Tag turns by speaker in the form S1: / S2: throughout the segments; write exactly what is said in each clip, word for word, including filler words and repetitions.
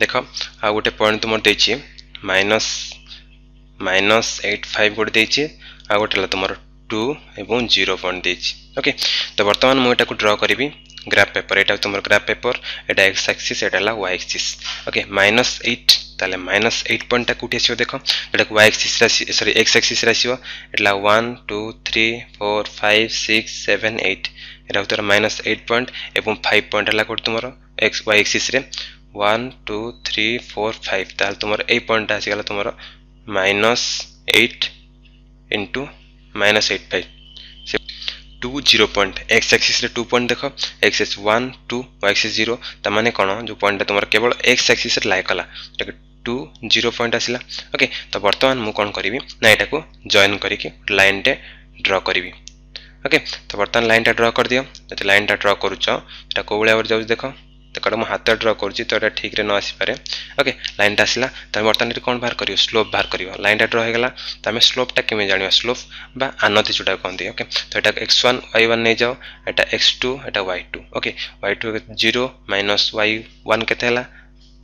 S1: ଦେଖ ଆଉ ଗୋଟେ ପଏଣ୍ଟ ତୁମର ଦେଇଛି ମାଇନସ୍ ମାଇନସ୍ ଏଇଟ୍ ଫାଇଭ୍ ଗୋଟେ ଦେଇଛି ଆଉ ଗୋଟେ ହେଲା ତୁମର ଟୁ ଏବଂ ଜିରୋ ପଏଣ୍ଟ ଦେଇଛି ଓକେ ତ ବର୍ତ୍ତମାନ ମୁଁ ଏଟାକୁ ଡ୍ର କରିବି ଗ୍ରାଫ୍ ପେପର ଏଇଟା ତୁମର ଗ୍ରାଫ୍ ପେପର ଏଇଟା ଏକ୍ସ ଆକ୍ସିସ୍ ଏଇଟା ହେଲା Y Axis okay minus eight ତାହେଲେ ମାଇନସ୍ ଏଇଟ୍ ପଏଣ୍ଟଟା କେଉଁଠି ଆସିବ ଦେଖ ଏଟାକୁ ୱାଇ ଆକ୍ସିସ୍ରେ ଆସି ସରି ଏକ୍ସ ଆକ୍ସିସ୍ରେ ଆସିବ ଏଟା one two three four five six seven eight ଏଟା ହେଉଛି ତୁମର ମାଇନସ୍ ଏଇଟ୍ ପଏଣ୍ଟ ଏବଂ ଫାଇଭ୍ ପଏଣ୍ଟ ହେଲା କେଉଁଠି ତୁମର ଏକ୍ସ ୱାଇ ଆକ୍ସିସ୍ରେ one two three four five ତାହେଲେ ତୁମର ଏଇ ପଏଣ୍ଟଟା ଆସିଗଲା ତୁମର minus eight into minus eight five two zero point X ଆକ୍ସିସ୍ରେ two point ଦେଖ X Axis one two Y axis zero ତାମାନେ କ'ଣ ଯେଉଁ ପଏଣ୍ଟଟା ତୁମର କେବଳ ଏକ୍ସ ଆକ୍ସିସ୍ରେ ଲାଏ କଲା ଯେଉଁଟାକି ଟୁ ଜିରୋ ପଏଣ୍ଟ ଆସିଲା ଓକେ ତ ବର୍ତ୍ତମାନ ମୁଁ କ'ଣ କରିବି ନା ଏଟାକୁ ଜଏନ୍ କରିକି ଲାଇନ୍ଟେ ଡ୍ର କରିବି ଓକେ ତ ବର୍ତ୍ତମାନ ଲାଇନ୍ଟା ଡ୍ର କରିଦିଅ ଯଦି ଲାଇନ୍ଟା ଡ୍ର କରୁଛ ଏଟା କେଉଁ ଭଳିଆ ଭାବରେ ଯାଉଛି ଦେଖ ଦେଖ ଏଟା ମୁଁ ହାତରେ ଡ୍ର କରୁଛି ତ ଏଟା ଠିକ୍ରେ ନ ଆସିପାରେ ଓକେ ଲାଇନ୍ଟା ଆସିଲା ତମେ ବର୍ତ୍ତମାନ ଏଠି କ'ଣ ବାହାର କରିବ ସ୍ଲୋପ୍ ବାହାର କରିବ ଲାଇନ୍ଟା ଡ୍ର ହେଇଗଲା ତ ଆମେ ସ୍ଲୋପ୍ଟା କେମିତି ଜାଣିବା ସ୍ଲୋପ୍ ବା ଆନତି ଯେଉଁଟା କହନ୍ତି ଓକେ ତ ଏଟା ଏକ୍ସ ୱାନ୍ ୱାଇ ୱାନ୍ ନେଇଯାଅ ଏଟା ଏକ୍ସ ଟୁ ଏଟା Y two okay Y two zero minus Y one କେତେ ହେଲା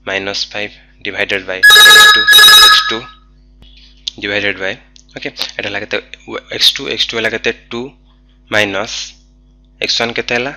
S1: minus five divided by X two X two divided by okay ଏଟା ହେଲା କେତେ ଏକ୍ସ ଟୁ ଏକ୍ସ ଟୁ ହେଲା କେତେ ଟୁ ମାଇନସ୍ ଏକ୍ସ ୱାନ୍ କେତେ ହେଲା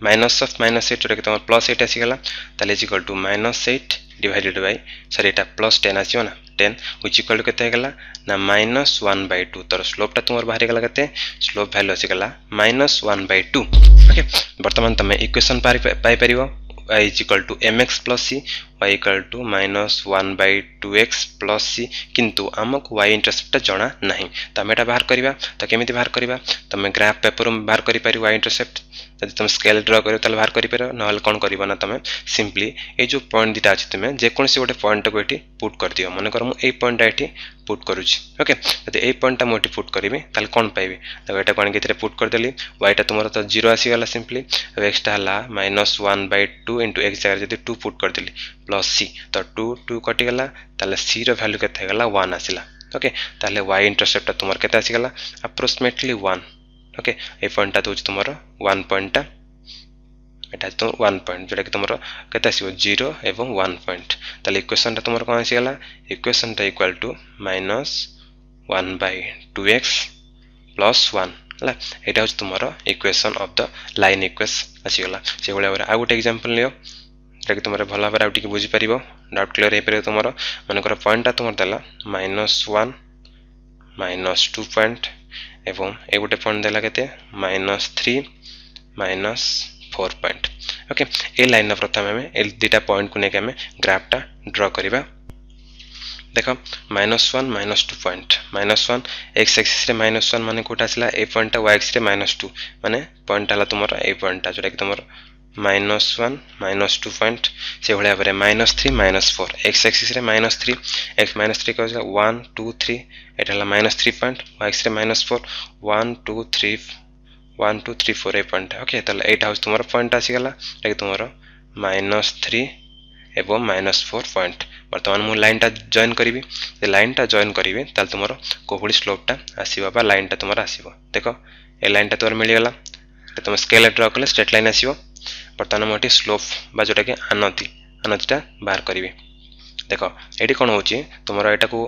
S1: ମାଇନସ୍ ଅଫ୍ ମାଇନସ୍ ଏଇଟ୍ ଯେଉଁଟାକି ତୁମର ପ୍ଲସ୍ ଏଇଟ୍ ଆସିଗଲା ତାହେଲେ is equal to minus eight divided by sorry ଏଇଟା ପ୍ଲସ୍ ଟେନ୍ ଆସିବ ନା ଟେନ୍ which equal to କେତେ ହେଇଗଲା ନା ମାଇନସ୍ ୱାନ୍ ବାଇ ଟୁ ତୋର ସ୍ଲୋପ୍ଟା ତୁମର ବାହାରିଗଲା କେତେ ସ୍ଲୋପ୍ ଭ୍ୟାଲୁ ଆସିଗଲା minus one by two okay ବର୍ତ୍ତମାନ ତୁମେ ଇକ୍ୱେସନ୍ ପାଇପାରିବ y is equal to mx plus c y equal to minus one by two x plus c କିନ୍ତୁ ଆମକୁ y ଇଣ୍ଟରସେପ୍ଟଟା ଜଣା ନାହିଁ ତ ଆମେ ଏଟା ବାହାର କରିବା ତ କେମିତି ବାହାର କରିବା ତୁମେ ଗ୍ରାଫ୍ ପେପରରୁ ବାହାର କରିପାରିବ y intercept ଯଦି ତୁମେ ସ୍କେଲ୍ ଡ୍ର କରିବ ତାହେଲେ ବାହାର କରିପାରିବ ନହେଲେ କ'ଣ କରିବ ନା ତୁମେ ସିମ୍ପଲି ଏଇ ଯେଉଁ ପଏଣ୍ଟ ଦୁଇଟା ଅଛି ତୁମେ ଯେକୌଣସି ଗୋଟେ ପଏଣ୍ଟଟାକୁ ଏଠି ପୁଟ୍ କରିଦିଅ ମନେକର ମୁଁ ଏଇ ପଏଣ୍ଟଟା ଏଠି ପୁଟ୍ କରୁଛି ଓକେ ଯଦି ଏଇ ପଏଣ୍ଟଟା ମୁଁ ଏଠି ପୁଟ୍ କରିବି ତାହେଲେ କ'ଣ ପାଇବି ଦେଖ ଏଟାକୁ ଆଣିକି ଏଥିରେ ପୁଟ୍ କରିଦେଲି ୱାଇଟା ତୁମର ତ ଜିରୋ ଆସିଗଲା ସିମ୍ପଲି ଆଉ ଏକ୍ସଟା ହେଲା minus one by two into X ଜାଗାରେ ଯଦି ଟୁ ପୁଟ୍ କରିଦେଲି ପ୍ଲସ୍ ସି ତ ଟୁ ଟୁ କଟିଗଲା ତାହେଲେ ସିର ଭ୍ୟାଲୁ କେତେ ହେଇଗଲା ୱାନ୍ ଆସିଲା ଓକେ ତାହେଲେ ୱାଇ ଇଣ୍ଟରସେପ୍ଟଟା ତୁମର କେତେ ଆସିଗଲା ଆପ୍ରୋକ୍ସିମେଟଲି ୱାନ୍ ଓକେ ଏଇ ପଏଣ୍ଟଟା ଦେଉଛି ତୁମର ୱାନ୍ ପଏଣ୍ଟଟା ଏଟା ତୁମର ୱାନ୍ ପଏଣ୍ଟ ଯେଉଁଟାକି ତୁମର କେତେ ଆସିବ ଜିରୋ ଏବଂ ୱାନ୍ ପଏଣ୍ଟ ତାହେଲେ ଇକ୍ୱେସନ୍ଟା ତୁମର କ'ଣ ଆସିଗଲା ଇକ୍ୱେସନ୍ଟା equal to minus one by two X plus one ହେଲା ଏଇଟା ହେଉଛି ତୁମର equation of the line equation ଆସିଗଲା ସେଇଭଳି ଭାବରେ ଆଉ ଗୋଟେ ଏକ୍ଜାମ୍ପଲ୍ ନିଅ ଯେଉଁଟାକି ତୁମର ଭଲ ଭାବରେ ଆଉ ଟିକେ ବୁଝିପାରିବ ଡାଉଟ୍ କ୍ଲିୟର ହେଇପାରିବ ତୁମର ମନେକର ପଏଣ୍ଟଟା ତୁମର ଦେଲା minus one minus two point ଏବଂ ଏ ଗୋଟେ ପଏଣ୍ଟ ଦେଲା କେତେ minus three minus four point okay ଏ ଲାଇନ୍ର ପ୍ରଥମେ ଆମେ ଏ ଦୁଇଟା ପଏଣ୍ଟକୁ ନେଇକି ଆମେ ଗ୍ରାଫଟା ଡ୍ର କରିବା ଦେଖ minus one minus two point minus one X ଆକ୍ସିସ୍ରେ minus one ମାନେ କେଉଁଟା ଆସିଲା ଏଇ ପଏଣ୍ଟଟା ୱାଇ ଆକ୍ସିସ୍ରେ ମାଇନସ୍ ଟୁ ମାନେ ପଏଣ୍ଟଟା ହେଲା ତୁମର ଏଇ ପଏଣ୍ଟଟା ଯେଉଁଟାକି ତୁମର minus one minus two point ସେଭଳି ଭାବରେ minus three minus four X ଆକ୍ସିସ୍ରେ minus three X minus three କହୁଛି ୱାନ୍ ଟୁ ଥ୍ରୀ ଏଇଟା ହେଲା ମାଇନସ୍ ଥ୍ରୀ ପଏଣ୍ଟ ୱାଇ ଆକ୍ସିସ୍ରେ minus four one two three one two three four ଏଇ ପଏଣ୍ଟଟା okay ତାହେଲେ ଏଇଟା ହେଉଛି ତୁମର ପଏଣ୍ଟ ଆସିଗଲା ଯେଉଁଟାକି ତୁମର ମାଇନସ୍ ଥ୍ରୀ ଏବଂ ମାଇନସ୍ ଫୋର୍ ପଏଣ୍ଟ ବର୍ତ୍ତମାନ ମୁଁ ଲାଇନ୍ଟା ଜଏନ୍ କରିବି ଯଦି ଲାଇନ୍ଟା ଜଏନ୍ କରିବି ତାହେଲେ ତୁମର କେଉଁଭଳି ସ୍ଲୋପ୍ଟା ଆସିବ ବା ଲାଇନ୍ଟା ତୁମର ଆସିବ ଦେଖ ଏ ଲାଇନ୍ଟା ତୁମର ମିଳିଗଲା ତୁମେ ସ୍କେଲ୍ ଡ୍ର କଲେ ଷ୍ଟ୍ରେଟ୍ ଲାଇନ୍ ଆସିବ ବର୍ତ୍ତମାନ ମୁଁ ଏଠି ସ୍ଲୋପ୍ ବା ଯେଉଁଟାକି ଆନତି ଆନତିଟା ବାହାର କରିବି ଦେଖ ଏଇଠି କ'ଣ ହେଉଛି ତୁମର ଏଇଟାକୁ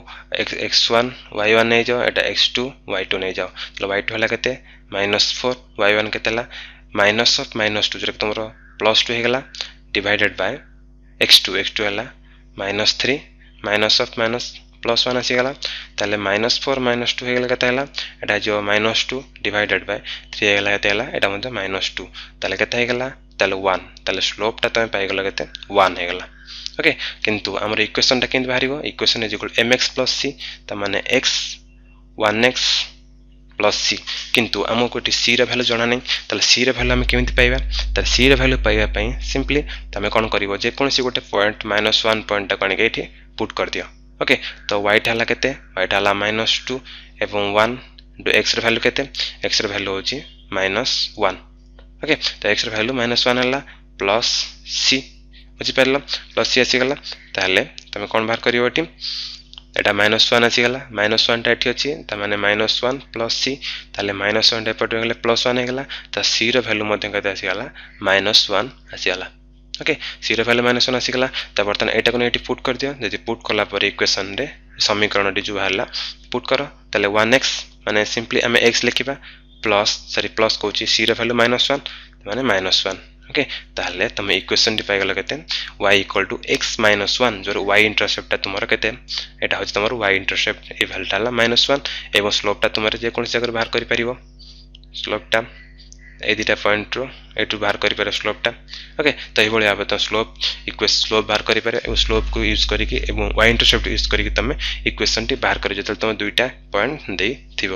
S1: ଏକ୍ସ ୱାନ୍ ୱାଇ ୱାନ୍ ନେଇଯାଅ ଏଇଟା ଏକ୍ସ ଟୁ ୱାଇ ଟୁ ନେଇଯାଅ ତାହେଲେ ୱାଇ ଟୁ ହେଲା କେତେ ମାଇନସ୍ ଫୋର୍ ୱାଇ ୱାନ୍ କେତେ ହେଲା ମାଇନସ୍ ଅଫ୍ ମାଇନସ୍ ଟୁ ଯେଉଁଟାକି ତୁମର ପ୍ଲସ୍ ଟୁ ହେଇଗଲା divided by X two X two ହେଲା minus three minus of minus plus one ଆସିଗଲା ତାହେଲେ ମାଇନସ୍ ଫୋର୍ ମାଇନସ୍ ଟୁ ହେଇଗଲା କେତେ ହେଲା ଏଇଟା ହେଇଯିବ minus two divided by three ହେଇଗଲା କେତେ ହେଲା ଏଇଟା ମଧ୍ୟ ମାଇନସ୍ ଟୁ ତାହେଲେ କେତେ ହେଇଗଲା ତାହେଲେ ୱାନ୍ ତାହେଲେ ସ୍ଲୋପ୍ଟା ତୁମେ ପାଇଗଲ କେତେ ୱାନ୍ ହେଇଗଲା ଓକେ କିନ୍ତୁ ଆମର ଇକ୍ୱେସନ୍ଟା କେମିତି ବାହାରିବ equation is equal M X plus C ତାମାନେ X one X plus C କିନ୍ତୁ ଆମକୁ ଏଠି ସିର ଭ୍ୟାଲୁ ଜଣା ନାହିଁ ତାହେଲେ ସିର ଭ୍ୟାଲୁ ଆମେ କେମିତି ପାଇବା ତାହେଲେ ସିର ଭ୍ୟାଲୁ ପାଇବା ପାଇଁ ସିମ୍ପଲି ତୁମେ କ'ଣ କରିବ ଯେକୌଣସି ଗୋଟେ ପଏଣ୍ଟ ମାଇନସ୍ ୱାନ୍ ପଏଣ୍ଟଟାକୁ ଆଣିକି ଏଇଠି ପୁଟ୍ କରିଦିଅ ଓକେ ତ ୱାଇଟା ହେଲା କେତେ ୱାଇଟା ହେଲା ମାଇନସ୍ ଟୁ ଏବଂ ୱାନ୍ ଇଣ୍ଟୁ ଏକ୍ସର ଭ୍ୟାଲୁ କେତେ ଏକ୍ସର ଭ୍ୟାଲୁ ହେଉଛି ମାଇନସ୍ ୱାନ୍ ଓକେ ତ ଏକ୍ସର ଭ୍ୟାଲୁ ମାଇନସ୍ ୱାନ୍ ହେଲା ପ୍ଲସ୍ ସି ବୁଝିପାରିଲ ପ୍ଲସ୍ ସି ଆସିଗଲା ତାହେଲେ ତୁମେ କ'ଣ ବାହାର କରିବ ଏଠି ଏଇଟା ମାଇନସ୍ ୱାନ୍ ଆସିଗଲା ମାଇନସ୍ ୱାନ୍ଟା ଏଠି ଅଛି ତାମାନେ ମାଇନସ୍ ୱାନ୍ ପ୍ଲସ୍ ସି ତାହେଲେ ମାଇନସ୍ ୱାନ୍ଟା ଏପଟେ ଗଲେ ପ୍ଲସ୍ ୱାନ୍ ହେଇଗଲା ତ ସିର ଭ୍ୟାଲୁ ମଧ୍ୟ କେତେ ଆସିଗଲା ମାଇନସ୍ ୱାନ୍ ଆସିଗଲା ଓକେ, ସିର ଭ୍ୟାଲୁ ମାଇନସ୍ ୱାନ୍ ଆସିଗଲା। ତ ବର୍ତ୍ତମାନ ଏଇଟାକୁ ନେଇ ଏଠି ପୁଟ୍ କରିଦିଅ। ଯଦି ପୁଟ୍ କଲା ପରେ ଇକ୍ୱେସନ୍ରେ ସମୀକରଣଟି ଯେଉଁ ବାହାରିଲା ପୁଟ୍ କର, ତାହେଲେ ୱାନ୍ ଏକ୍ସ ମାନେ ସିମ୍ପଲି ଆମେ ଏକ୍ସ ଲେଖିବା, ପ୍ଲସ୍, ସରି ପ୍ଲସ୍ କହୁଛି, ସିର ଭ୍ୟାଲୁ ମାଇନସ୍ ୱାନ୍ ମାନେ ମାଇନସ୍ ୱାନ୍। ଓକେ, ତାହେଲେ ତୁମେ ଇକ୍ୱେସନ୍ଟି ପାଇଗଲ କେତେ? Y equal to X minus one, ଯେଉଁର ୱାଇ ଇଣ୍ଟରସେପ୍ଟଟା ତୁମର କେତେ? ଏଇଟା ହେଉଛି ତୁମର ୱାଇ ଇଣ୍ଟରସେପ୍ଟ, ଏଇ ଭ୍ୟାଲୁଟା ହେଲା ମାଇନସ୍ ୱାନ୍। ଏବଂ ସ୍ଲୋପ୍ଟା ତୁମର ଯେକୌଣସି ଜାଗାରୁ ବାହାର କରିପାରିବ। ସ୍ଲୋପ୍ଟା ଏଇ ଦୁଇଟା ପଏଣ୍ଟରୁ ଏଇଠୁ ବାହାର କରିପାରିବ ସ୍ଲୋପ୍ଟା। ଓକେ, ତ ଏଇଭଳି ଭାବେ ତୁମେ ସ୍ଲୋପ୍ ଇକ୍ୱେ ସ୍ଲୋପ୍ ବାହାର କରିପାରିବ ଏବଂ ସ୍ଲୋପ୍କୁ ୟୁଜ୍ କରିକି ଏବଂ ୱାଇ ଇଣ୍ଟରସେପ୍ଟ ୟୁଜ୍ କରିକି ତୁମେ ଇକ୍ୱେସନ୍ଟି ବାହାର କରିବ, ଯେତେବେଳେ ତୁମେ ଦୁଇଟା ପଏଣ୍ଟ ଦେଇଥିବ।